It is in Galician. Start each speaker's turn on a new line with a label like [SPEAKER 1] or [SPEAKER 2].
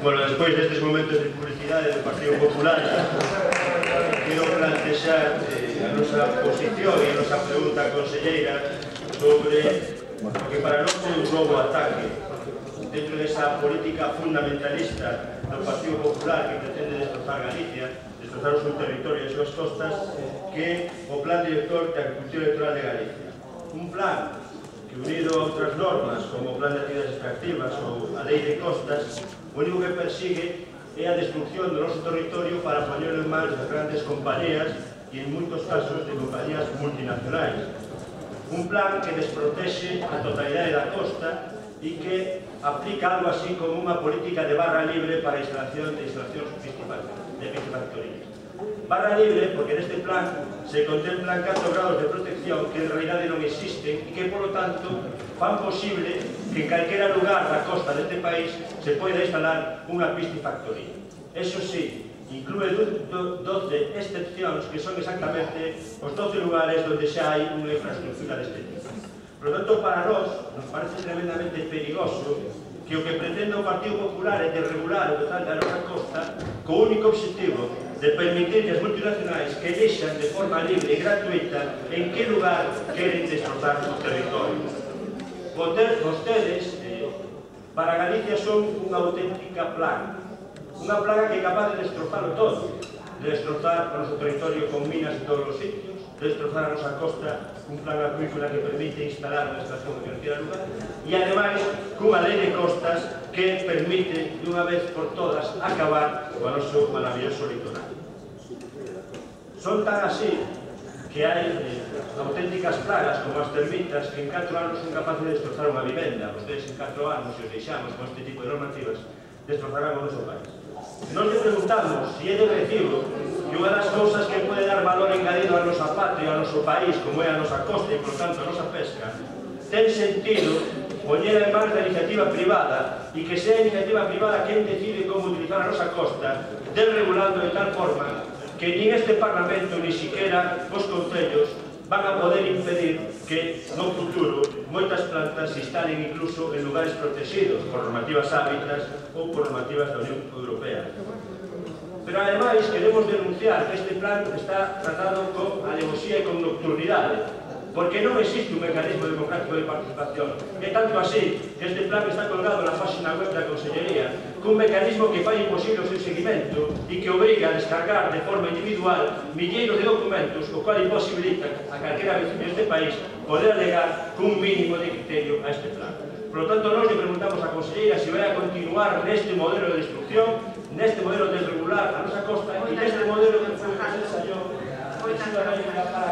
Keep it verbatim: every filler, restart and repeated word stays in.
[SPEAKER 1] Bueno, despois destes momentos de publicidade do Partido Popular, quero plantexar eh, a nosa posición e a nosa pregunta a conselleira sobre o que para nós é un novo ataque dentro desa política fundamentalista do Partido Popular que pretende destrozar Galicia, destrozar o seu territorio e as súas costas, que é o Plan Director de Agricultura Electoral de Galicia. Un plan que, unido a outras normas, como o Plan de Actividades Extractivas ou a Lei de Costas, o único que persigue é a destrucción do noso territorio para poñer en mans das grandes compañías e, en moitos casos, de compañías multinacionais. Un plan que desprotexe a totalidade da costa e que aplica algo así como unha política de barra libre para a instalación de instalacións de piscifactorías. Barra libre porque neste plan se contemplan catro grados de protección que en realidade non existen e que, polo tanto, fan posible que en calquera lugar da costa deste país se poida instalar unha piscifactoría. Eso sí, inclúe doce excepcións que son exactamente os doce lugares onde xa hai unha infraestructura deste tipo. Por lo tanto, para nós, nos parece tremendamente perigoso que o que pretende o Partido Popular é de regular o total da nosa costa co único objetivo de permitir que as multinacionais que deixan de forma libre e gratuita en que lugar queren destrozar o territorio. Vostedes, eh, para Galicia, son unha auténtica plaga. Unha plaga que é capaz de destrozarlo todo, de destrozar o noso territorio con minas en todos os sitios, de destrozar a nosa costa, un plan acuícola que permite instalar unha estación de cualquier lugar, e ademais cunha lei de costas que permite, dunha vez por todas, acabar co noso maravilloso litoral. Son tan así que hai eh, auténticas plagas como as termitas que en catro anos son capaces de destrozar unha vivenda. Vostedes en catro anos, se os deixamos con este tipo de normativas, destrozarán o noso país. Nos le preguntamos se é de recibo que unha das cousas que pode dar valor engadido a nosa patria, ao noso país, como é a nosa costa e, por tanto, a nosa pesca, ten sentido poñer en mans da iniciativa privada e que sea a iniciativa privada quen decide como utilizar a nosa costa, desregulando de tal forma que nin este Parlamento, ni siquiera os concellos, van a poder impedir que no futuro moitas plantas se instalen incluso en lugares protegidos por normativas hábitats ou por normativas da Unión Europea. Pero ademais queremos denunciar que este plan está tratado con alevosía e con nocturnidade, porque non existe un mecanismo democrático de participación. É tanto así que este plan está colgado na página web da Consellería cun mecanismo que fai imposible o seu seguimento e que obriga a descargar de forma individual milleiros de documentos, o cual imposibilita a calquera vecino deste país poder alegar cun mínimo de criterio a este plan. Por lo tanto, nós le preguntamos á Conselleira se vai a continuar neste modelo de destrucción, neste modelo de desregular a nosa costa e neste modelo que foi o que se ensayou precisamente para